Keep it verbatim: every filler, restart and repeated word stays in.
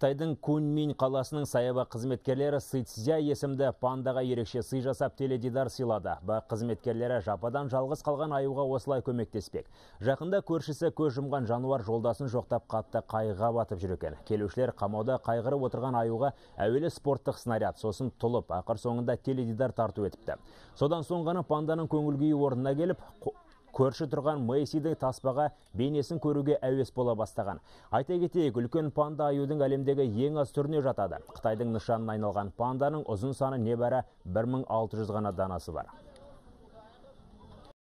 Қытайдың Куньмин қаласының саябақ қызметкерлері Сыйцзя есімді пандаға ерекше сый жасап теледидар сыйлады. Бақ қызметкерлері жападан жалғыз қалған аюға осылай көмектеспек. Жақында көршісі көз жұмған жануар жолдасын жоқтап қатты қайғыға батып жүр екен. Келушілер қамауда қайғырып отырған аюға әуелі спорттық снаряд, сосын тұлып, ақыр соңында теледидар тарту етіпті. Содан соң ғана панданың көңіл күйі орнына келіп, көрші тұрған Мэйсидің таспаға бейнесін көруге әуес бола бастаған. Айта кетейік, үлкен панда аюдың әлемдегі ең аз түріне жатады. Қытайдың нышанына айналған панданың ұзын саны небәрі бір мың алты жүз ғана данасы бар.